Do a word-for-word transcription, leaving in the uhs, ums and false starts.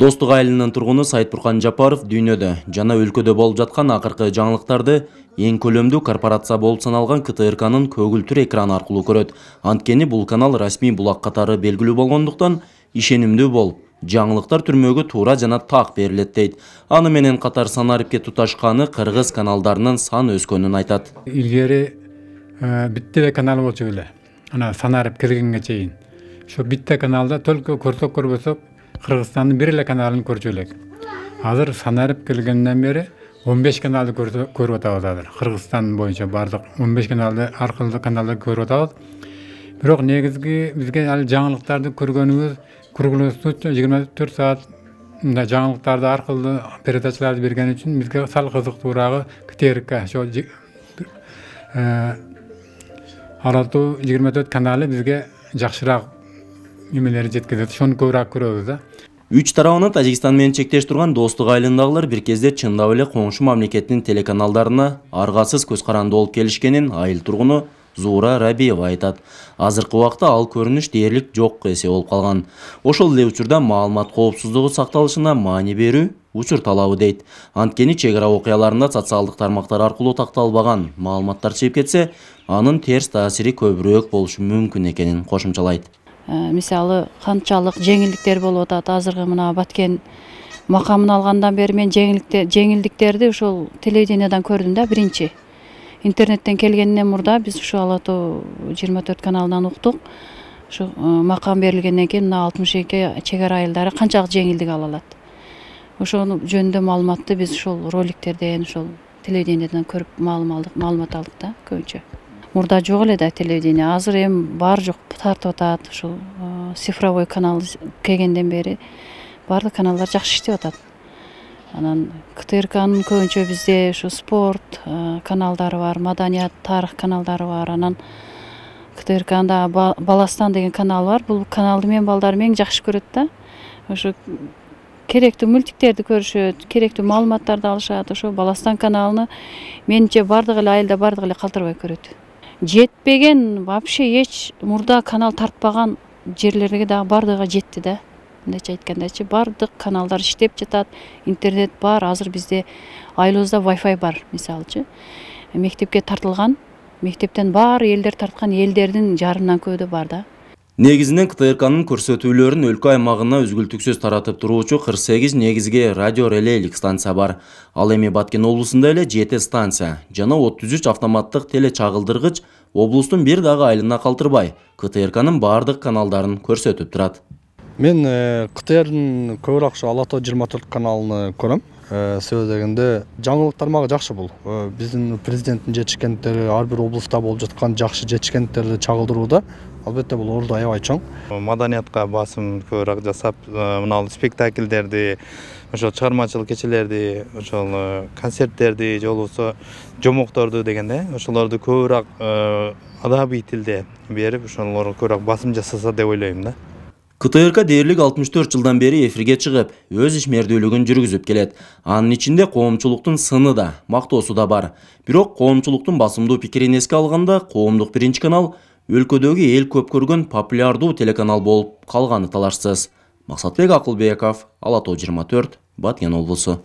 Достук айылынын тургуну Сайтбуркан Жапаров дүйнөдө жана өлкөдө болуп жаткан акыркы жаңылыктарды эң көлөмдүү корпорация болуп саналган К Т Р К'нын көгүлтүр экраны аркылуу көрөт. Анткени бул канал расмий булак катары белгилүү болгондуктан ишенимдүү болуп, жаңылыктар түрмөгө туура жана так берилет дейт. Аны менен катар санарипке туташканы кыргыз каналдарынын саны өскөнүн айтат. Илгери битте канал болчу эле. Ана санарип киргенге чейин. Şu bitta kanalda только көрсөк көрбөсөк Кыргызстандын бир эле каналын көрчү элек. Азыр санарып келгенден бери он беш каналды көрүп атабыз азыр. Кыргызстан боюнча бардык он беш каналды аркылуу каналды көрүп атабыз. Бирок негизги бизге ал жаңылыктарды көргөнүбүз круглосуточно жыйырма төрт саат жаңылыктарды аркылуу передачаларды берген үчүн бизге сал кызыктуурагы К Т Р К. Ошо Аратуу жыйырма төрт каналы бизге жакшыраак немелери жеткизет. Ошону көбүрөөк көрөбүз да. Үч тарабына Тажикстан менен чектеш турган достук айылындагылар бир кезде чындап эле коңшу мамлекеттин телеканалдарына аргасыз көз каранды болуп келишкенин айыл тургуну Зуура Рабиева айтат. Азыркы убакта ал көрүнүш дээрлик жок эсе болуп калган. Ошол эле учурда маалымат коопсуздугу сакталышына маани берүү учур талабы дейт. Анткени чек ара окуяларында социалдык тармактар аркылуу такталбаган маалыматтар чыгып кетсе, анын терс таасири көбүрөөк болушу мүмкүн экенин кошумчалайт. Мисалы канчалык жеңилдиктер болуп атат. Азыркы мына Баткен макамын алгандан бери мен жеңилдиктерди ошол телевидениядан көрдүм да биринчи. Интернеттен келгенден мурда биз ушу Алатуу жыйырма төрт каналынан уктук. Ушу макам берилгенден кийин мына алтымыш эки чек ара айылдары канчалык жеңилдик ала алат. Ошону жөнүндө маалыматты биз ушул роликтерден, ушул телевидениядан көрүп маалым алдык, маалымат алдык да көбүнчө. Мурда жок эле да телевидение, азыр эми бар жок тартып атат. Ушул цифровой канал келгенден бери баардык каналдар жакшы иштеп атат. Анан К Т Р К'нын көбүнчө бизде ушу спорт каналдары бар, маданият, тарых каналдары бар. Анан К Т Р К'нда Баластан деген канал бар. Бул каналды мен балдарым эң жакшы көрөт да. Ошо керектүү мультиктерди көрүшөт, керектүү маалыматтарды алышат. Ошо Баластан каналын менимче баардык эле айылда баардык эле калтырбай көрөт. Жетпеген, вообще эч мурда канал тартпаган жерлерге дагы баардыгы жетти да. Мындайча айткандачы баардык каналдар иштеп жатат, интернет бар, азыр бизде айылыбызда Wi-Fi бар, мисалычы. Мектепке тартылган, мектептен бар элдер тарткан элдердин жарымдан көбү бар да. Негизинен К Т Р К'нын көрсөтүүлөрүн өлкө аймагына үзгүлтүксүз таратып туруучу кырк сегиз негизги радио релейлик станция бар. Ал эми Баткен облусунда эле жети станция жана отуз үч автоматтык теле чагылдыргыч облустун бир дагы айылына калтырбай К Т Р К'нын баардык каналдарын көрсөтүп турат. Мен К Т Р'нын көбүрөөк Алатуу жыйырма төрт каналын көрөм. Себеби дегенде жаңылык тармагы жакшы бул. Биздин президенттин жетишкендиктери ар бир облуста болуп жаткан жакшы жетишкендиктерди чагылдырууда албетте бул орду аябай чоң. Маданиятка басым көбүрөөк жасап, мына спектакльдерди, ошо чыгармачылык кечелерди, ошол концерттерди, же болбосо жомокторду дегенде, ошолорду көбүрөөк адабий тилде берип, ошолорго көбүрөөк басым жасаса деп ойлойм да. К Т Р К дээрлик алтымыш төрт жылдан бери эфирге чыгып, өз ишмердүүлүгүн жүргүзүп келет. Анын ичинде коомчулуктун сыны да, мактоосу да бар. Бирок коомчулуктун басымдуу пикирин эске алганда, коомдук биринчи канал өлкөдөгү эл көп көргөн популярдуу телеканал болуп калганы талашсыз. Максатбек Акылбеков, Алатуу жыйырма төрт, Баткен облусу.